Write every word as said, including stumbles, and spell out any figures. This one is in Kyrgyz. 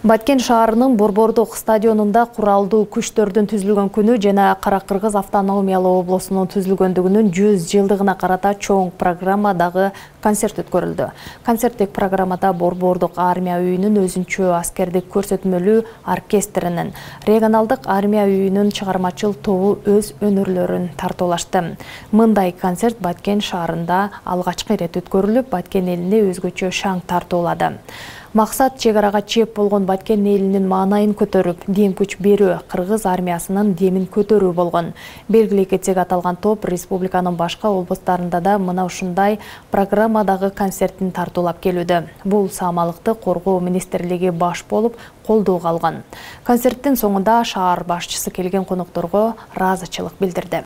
Баткен шаарынын Борбордук стадионунда куралдуу күчтөрдүн түзүлгөн күнү жана Кара-Кыргыз автономиялуу облусунун түзүлгөндүгүнүн жүз жылдыгына карата чоң программадагы концерт өткөрүлдү. Концерттик программада Борбордук армия үйүнүн өзүнчө аскердик көрсөтмөлүү оркестринин, регионалдык армия үйүнүн чыгармачыл тобу өз өнөрлөрүн тартуулашты. Мындай концерт Баткен шаарында алгачкы ирет өткөрүлүп, Баткен элине өзгөчө шаң тартуулады. Максат чек арага чеп болгон Баткен элинин маанайын көтөрүп, дем күч берүү, Кыргыз армиясынын демин көтөрүү болгон. Белгилей кетсек, аталган топ республиканын башка облустарында да мына ушундай программадагы концерттин тартуулап келүүдө. Бул саамалыкты коргоо министрлиги баш болуп колдоого алган. Концерттин соңунда шаар башчысы келген конокторго ыраазычылык билдирди.